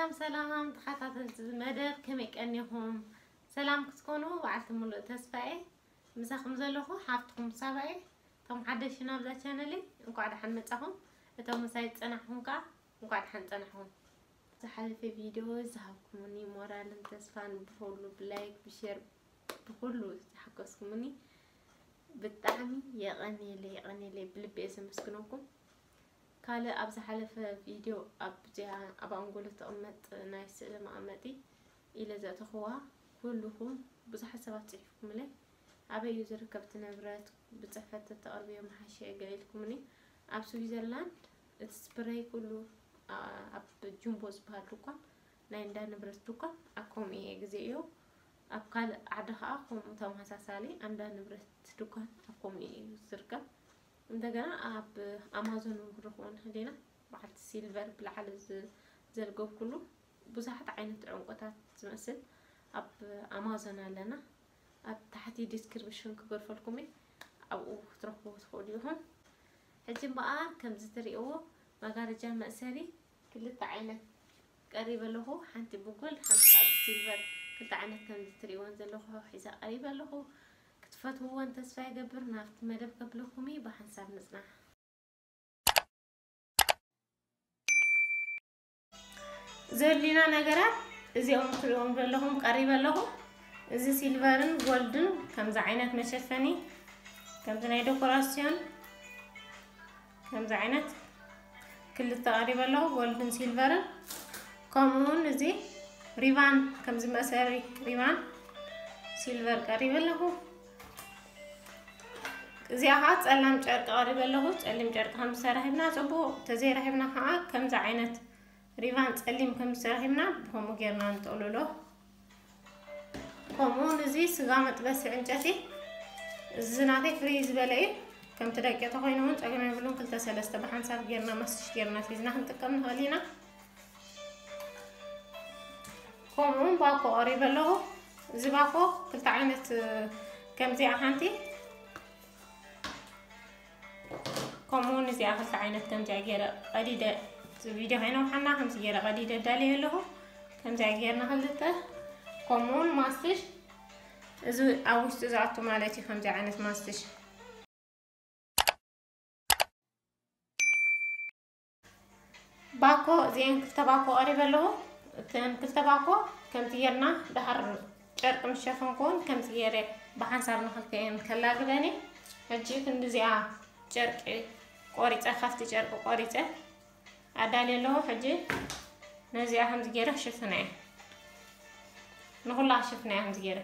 ሰላም ሰላም ተኸታተልቲ እዚ መደብ ከመይ ቀኒኹም? ሰላም ክትኮኑ በዓልቲ ሙሉእ ተስፋ እየ። ምሳኹም ዘለኹ ሓፍትኹም ሳባ እየ። እቶም ሓደሽቲ ናብዛ ቻነለይ እንኳዕ ደሓን መጻኹም። እቶም ምሳይ ዝጸናሕኩም ከኣ እንኳዕ ደሓን ጸናሕኩም። ዝሓለፈ ቪድዮ ዝሃብኩምኒ ሞራልን ተስፋን ብኹሉ ብላይክ ብሼር ብኹሉ ዝሓገዝኩምኒ ብጣዕሚ የቐንየለይ የቐንየለይ ብልቢ እየ ዘመስግነኩም። ካልእ ኣብ ዝሓለፈ ቪድዮ ኣብዚኣ ኣብ ኣንጎሎ ትቕመጥ ናይ ስእሊ መቐመጢ ኢለ ዘእተኽዋ ኩልኹም ብዙሓት ሰባት ጽሒፍኩምለይ። ኣበይ እዩ ዝርከብ እቲ ንብረት ብጽሕፈት ተተቕርብዮ ምሓሸ ገለ ኢልኩምኒ። ኣብ ስዊዘርላንድ እቲ ስፕረይ ኩሉ ኣብ ጁምቦ ዝበሃል ድኳን ናይ እንዳ ንብረት ድኳን ኣብ ከምኡ እየ ግዜዮ። ኣብ ካልእ ዓዲ ከኣ ከምኡ ተመሳሳሊ ኣብ እንዳ ንብረት ድኳን ኣብ ከምኡ እዩ ዝርከብ። እንደገና ኣብ ኣማዞን እውን ክንረኽቦ ንኽእል ኢና። በዓልቲ ሲልቨር ብላዕሊ ዝ- ዘልገብኩሉ ብዙሓት ዓይነት ዕንቁታት ዝመስል ኣብ ኣማዞን ኣለና። ኣብ ታሕቲ ዲስክሪፕሽን ክገድፈልኩም እየ፣ ኣብኡ ክትረኽብዎ ትኽእሉ ኢኹም። ሕጂ እምበኣር ከምዚ ትርእይዎ መጋረጃ መእሰሪ ክልተ ዓይነት ቀሪበ ኣለኹ። ሓንቲ ብጎልድ ሓንቲ ከዓ ብሲልቨር ክልተ ዓይነት ከምዚ ትርእይወን ዘለኹ ሒዘ ቀሪበ ኣለኹ። ክትፈትውወን ተስፋ ይገብር። ናብቲ መደብ ከብለኩም እዩ፣ ብሓንሳብ ንጽናሕ። ዘድልዩና ነገራት እዚኦም ትሪእዎም ዘለኹም ቀሪበ ኣለኹ። እዚ ሲልቨርን ጎልድን ከምዚ ዓይነት መሸፈኒ፣ ከምዚ ናይ ዴኮራሲዮን ከምዚ ዓይነት ክልተ ቀሪበ ኣለኹ፣ ጎልድን ሲልቨርን። ከምኡ እውን እዚ ሪቫን፣ ከምዚ መእሰሪ ሪቫን ሲልቨር ቀሪበ ኣለኹ። እዚኣ ከዓ ጸላም ጨርቂ ቀሪበ ኣለኹ። ጸሊም ጨርቂ ከም ዝሰራሕብና ጽቡቕ፣ ተዘይረኺብና ከዓ ከምዚ ዓይነት ሪቫን ጸሊም ከም ዝሰራሕብና ብኸምኡ ጌርና ንጠቕልሎ። ከምኡ እውን እዚ ስጋ መጥበሲ ዕንጨቲ፣ እዚ ናተይ ፍርይ ዝበለ እዩ። ከምቲ ደቂ ተኾይኑ እውን ጸገም የብሉን። ክልተ ሰለስተ ብሓንሳብ ጌርና ማስቲሽ ጌርና ሒዝና ክንጥቀም ንኽእል ኢና። ከምኡ እውን ባኮ ቀሪበ ኣለኹ። እዚ ባኮ ክልተ ዓይነት፣ ከምዚኣ ሓንቲ፣ ከምኡ እውን እዚኣ ክልተ ዓይነት ከምዚኣ ገይረ ቀዲደ፣ እዚ ቪድዮ ከይነውሓና ከምዚ ገይረ ቀዲደ ኣዳልየ ኣለኹ። ከምዚኣ ጌርና ክልተ፣ ከምኡ እውን ማስቲሽ፣ እዚ ኣብ ውሽጢ ዝኣቱ ማለት እዩ። ከምዚ ዓይነት ማስቲሽ ባኮ፣ እዚአን ክልተ ባኮ ቀሪበ ኣለኹ። እተን ክልተ ባኮ ከምዚ ጌርና ደሓር ጨርቂ ምስ ሸፈንኩ እውን ከምዚ ገይረ ብሓንሳብ ንኽልቲኤን ከላግበን እየ። ሕጂ ክንዲ እዚኣ ጨርቂ ቆሪፀ፣ ካብቲ ጨርቂ ቆሪፀ ኣዳልየ ኣለኹ። ሕጂ ነዚኣ ከምዚ ገይረ ክሽፍና እየ። ንኹላ ክሽፍና እየ ከምዚ ገይረ።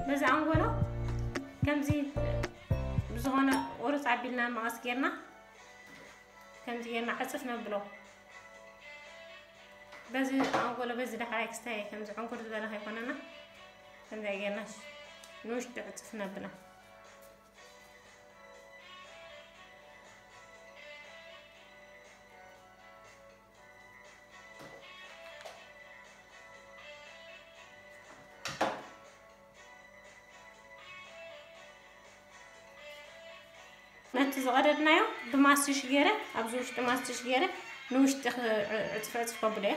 በዚ ኣንጎሎ ከምዚ ብዝኾነ ቁርፅ ኣቢልና መቐስ ጌርና ከምዚ ጌርና ዕፅፍ ነብሎ። በዚ ኣንጎሎ በዚ ዳሕራይ ክስታይ ከምዚ ዕንኩር ዝበለ ከይኮነና ከምዚ ጌርና ንውሽጢ ዕፅፍ ነብላ። ነቲ ዝቐደድናዮ ብማስቲሽ ገይረ፣ ኣብዚ ውሽጢ ማስቲሽ ገይረ ንውሽጢ ክ-፣ ዕፅፍ ዕፅፍ ከብሎ እየ።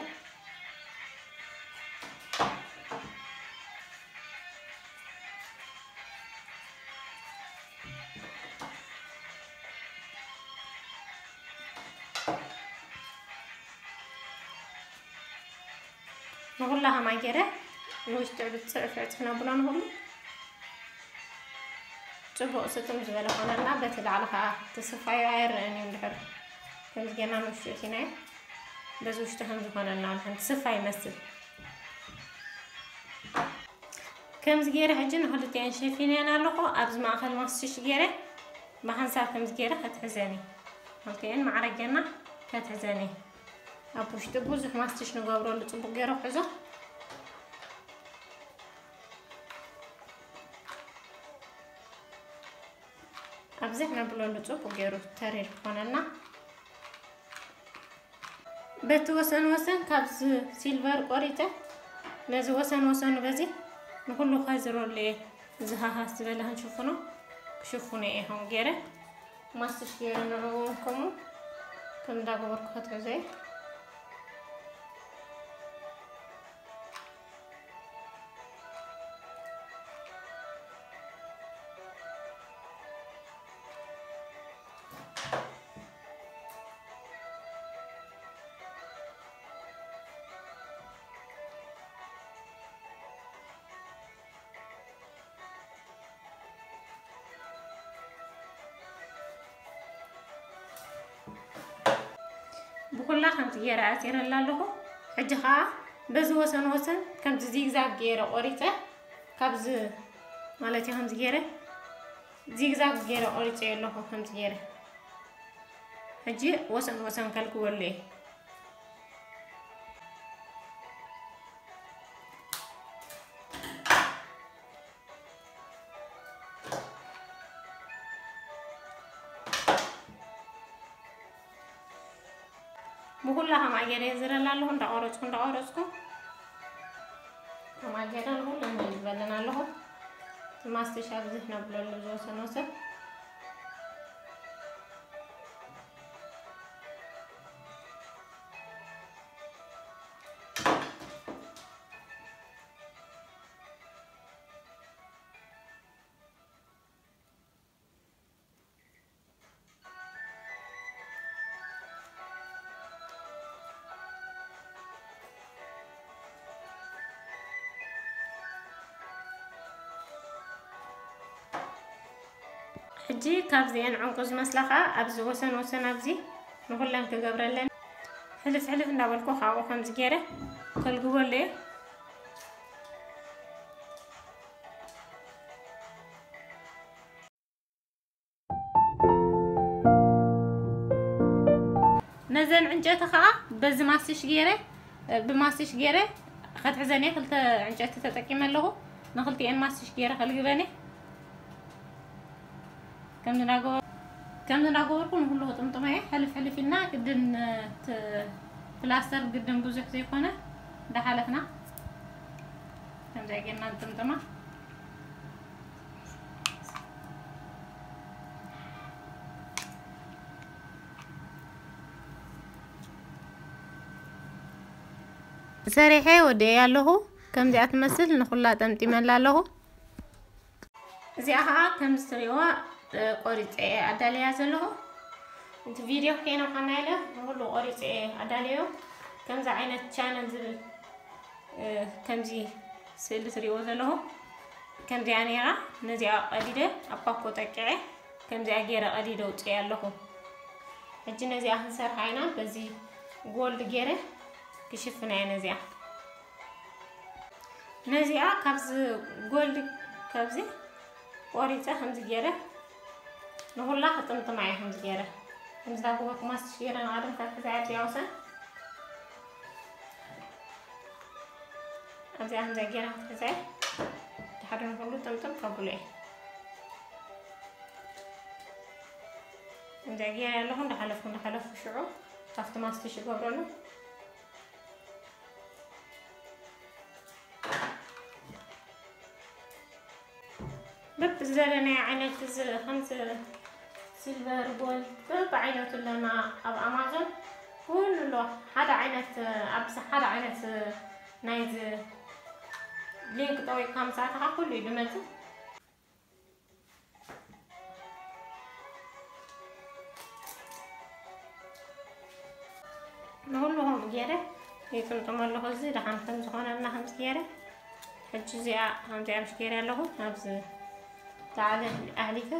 ንኹላ ከማይ ገይረ ንውሽጢ ዕብት ጽዕፍ ዕጽፍ ነብሎ ንኹሉ ጽቡቕ ስጥም ዝበለ ኮነልና። በቲ ላዕሊ ከዓ ተስፋዩ ኣይረአን እዩ። እንድሕር ከምዚ ጌርና ንውሽጢ እቲናዮ በዚ ውሽጢ ከም ዝኾነልና ንሕን ተስፋ ይመስል። ከምዚ ገይረ ሕጂ ንኽልቲኤን ሸፊነን ኣለኹ። ኣብዚ ማእኸል ማስቲሽ ገይረ ብሓንሳብ ከምዚ ገይረ ከትሕዘን እየ። ክልቲኤን ማዕረ ጌርና ከትሕዘን እየ። ኣብ ውሽጢ ብዙሕ ማስትሽ ንገብረሉ፣ ጽቡቕ ገይሩ ክሕዞ። ኣብዚሕ ነብለሉ፣ ጽቡቕ ገይሩ ተሪር ክኾነልና። በቲ ወሰን ወሰን ካብዚ ሲልቨር ቆሪጸ፣ ነዚ ወሰን ወሰኑ በዚ ንኹሉ ከዝረሉ እየ። እዚ ሃሃስ ዝበለ ክንሽፍኖ፣ ክሽፍኖ እየ ከምኡ ገይረ። ማስትሽ ገይረ ንዕኡ እውን ከምኡ ከም እንዳገበርኩ ከትሕዞ እየ። ብኹላ ከምዚ ገይረ ኣሲረላ ኣለኹ። ሕጂ ኸዓ በዚ ወሰን ወሰን ከምዚ ዚግዛግ ገይረ ቆሪፀ፣ ካብዚ ማለት እዩ ከምዚ ገይረ ዚግዛግ ገይረ ቆሪፀዮ ኣለኹ። ከምዚ ገይረ ሕጂ ወሰን ወሰን ከልግበሉ እየ። ብኹላ ከማይ ገይረ የዝረላ ኣለኹ፣ እንዳቆረፅኩ እንዳቆረፅኩ ከማይ ገይረ ንኹሉ ዝበለን ኣለኹ። እቲ ማስትሽ ኣብዚ ነብለሉ ዝወሰን ወሰን። ሕጂ ካብዚአን ዕንቁ ዝመስላ ኸዓ ኣብዚ ወሰን ወሰን ኣብዚ ንኹለን ክገብረለን ሕልፍ ሕልፍ እንዳበልኩ ካብኡ ከምዚ ገይረ ከልግበሉ እየ። ነዘን ዕንጨቲ ኸዓ በዚ ማስቲሽ ገይረ፣ ብማስቲሽ ገይረ ከትሕዘን እየ። ክልተ ዕንጨቲ ተጠቂመ ኣለኹ። ንክልቲኤን ማስቲሽ ገይረ ከልግበን እየ። ከምዚ እናገበ-፣ ከምዚ እናገበርኩ ንኩሉ ክጥምጥሞ እየ። ሕልፍ ሕልፍ ኢልና ግድን፣ ት-፣ ፕላስተር ግድን ብዙሕ ዘይኮነ እንዳሓለፍና ከምዚ ጌርና ንጥምጥማ። ሰሪሐ ወዲኤ ኣለኹ። ከምዚኣ ትመስል ንኹላ ጠምጢመላ ኣለኹ። እዚኣ ኸዓ ከምዚ ትሪእዋ፣ እ፣ ቆሪፀ እየ ኣዳልያ ዘለኹ። እቲ ቪድዮ ከይነውሓና ኢለ ንኹሉ ቆሪፀ እየ ኣዳልዮ። ከምዚ ዓይነት ቻነል ዝብል፣ እ፣ ከምዚ ስእሊ ትሪእዎ ዘለኹም ከምዚኣ ነይራ። ነዚኣ ቀዲደ ኣብ ፓኮ ጠቂዐ ከምዚኣ ገይረ ቀዲደ ኣውፅኤ ኣለኹ። ሕጂ ነዚኣ ክንሰርሓ ኢና። በዚ ጎልድ ገይረ ክሽፍና እየ ነዚኣ። ነዚኣ ካብዚ ጎልድ ካብዚ ቆሪፀ ከምዚ ገይረ ንኹላ ክጥምጥማ እየ። ከምዚ ገይረ ከምዚ ዳጎበርኩ ማስቲሽ ገይረ ንቐደም ካብ ሕዛ እያ እዚኣ ወሰን ኣብዚኣ ከምዚ ገይረ ክትሕዘ እየ። ድሓር ንኹሉ ጥምጥም ከብሎ እየ። ከምዚ ገይረ ኣለኹ እንዳሓለፍኩ እንዳሓለፍኩ ሽዑ ካብቲ ማስቲሽ ይገብረሉ። በብዝደለናዮ ዓይነት እዚ ከምዚ ሲልቨር፣ ጎልድ በብዓይነቱ ኣለና ኣብ ኣማዞን። ኩሉ ኣሎ። ሓደ ዓይነት፣ ኣብዚ ሓደ ዓይነት ናይዚ ሊንክ ጠዊቕካ ምስ ኣተኻ ኩሉ እዩ ዝመጽእ። ንኹሉ ከምኡ ገይረ ይጥምጥሞ ኣለኹ። እዚ ደሓን ከም ዝኾነልና ከምዚ ገይረ፣ ሕጂ እዚኣ ከምዚኣ ምሽ ገይረ ኣለኹ። ኣብዚ ላዕሊ ኣሕሊፈ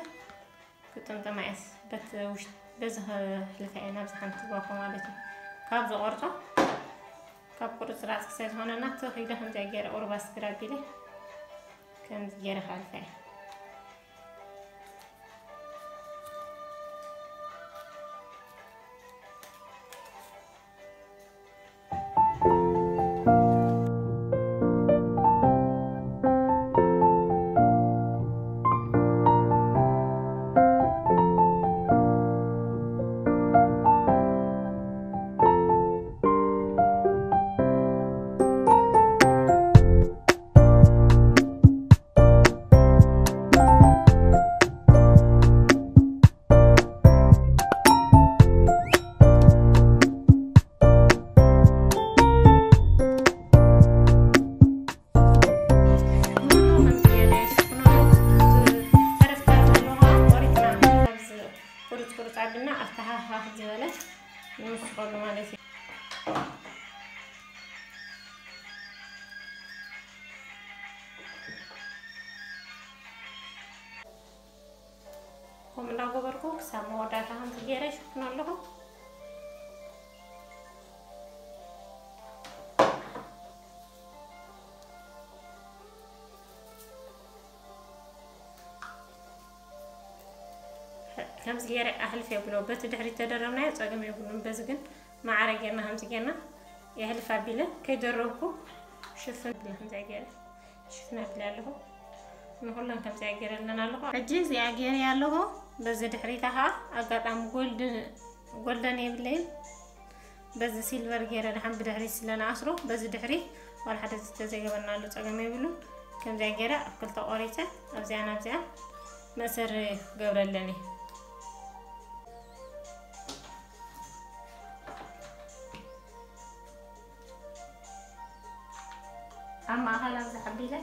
ክጥምጥማ እየስ። በቲ ውሽጢ በዚ ከሕልፋ እየ ናብዚ ሓንቲ ጓኾ ማለት እዩ። ካብ ዝቆርጾ፣ ካብ ቁርጽራጽ ስለ ዝኾነና፣ ትኽ ኢለ ከምዚኣ ገይረ ቁርባስ ግራቢለ ከምዚ ገይረ ከሕልፋ እየ። ይምስኸሉ ማለት እዩ። ከምኡ እንዳገበርኩ ክሳብ መወዳእታ ከምዚ ገይረ ይሽፍኖ ኣለኹ። ከምዚ ገይረ ኣሕልፍ የብሎ። በቲ ድሕሪት ተደረብናዮ ጸገም የብሉን። በዚ ግን ማዕረ ጌርና ከምዚ ጌርና የሕልፍ ኣቢለ ከይደረብኩ ሽፍን ብለ ከምዚ ገይረ ሽፍን ኣቢለ ኣለኹ። ንኹለን ከምዚ ገይረ ኣለና ኣለኹ። ሕጂ እዚኣ ገይረ ኣለኹ። በዚ ድሕሪታ ኸዓ ኣጋጣሚ ጎልድ-፣ ጎልደን የብለይን። በዚ ሲልቨር ገይረ ደሓን ብድሕሪት ስለ ንኣስሮ በዚ ድሕሪት ዋላ ሓደ ዝተዘይገበርናሉ ጸገም የብሉን። ከምዚኣ ገይረ ኣብ ክልተ ቆሪጸ ኣብዚኣ ናብዚኣ መእሰሪ ክገብረለን እየ። ኣብ ማእኸል ኣብዚ ሓቢለ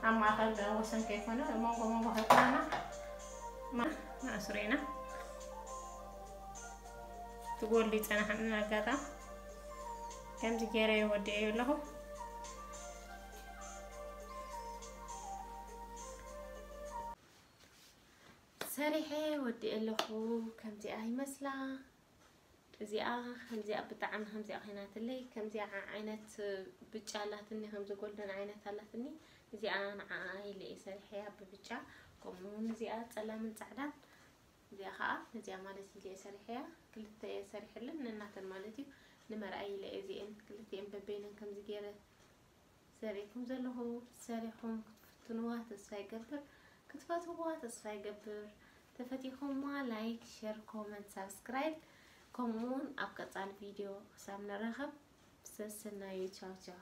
ኣብ ማእኸል ወሰን ከይኮነ መንጎ መንጎ ከይኮነና ማ-፣ ማእስሮ ኢና። ትጎሉ ይጸናሕን ኣጋጣም ከምዚ ገይረ ይወድኤ ኣለኹ። ሰሪሐ ወድኤ ኣለኹ። ከምዚኣ ይመስላ። እዚኣ ከምዚኣ ብጣዕሚ ከምዚኣ ኮይናትለይ። ከምዚኣ ዓይነት ብጫ ኣላትኒ፣ ከምዚ ጎልደን ዓይነት ኣላትኒ። እዚኣ ንዓኣ ኢለ እየ ሰሪሐያ ብብጫ። ከምኡ እውን እዚኣ ጸላምን ጻዕዳን። እዚኣ ከዓ ነዚኣ ማለት ኢለ እየ ሰሪሐያ። ክልተ እየ ሰሪሐለን ነናተን ማለት እዩ። ንመርኣይ ኢለ እየ እዚኤን ክልቲኤን በበይነን ከምዚ ገይረ ዘርእኩም ዘለኹ። ሰሪሕኩም ክትፍትንዋ ተስፋ ይገብር፣ ክትፈትውዋ ተስፋ ይገብር። ተፈቲኹምዋ ላይክ፣ ሸር፣ ኮመንት፣ ሳብስክራይብ ከምኡውን ኣብ ቀጻሊ ቪድዮ ክሳብ ንራኸብ ሰሰናዩ። ቻው ቻው።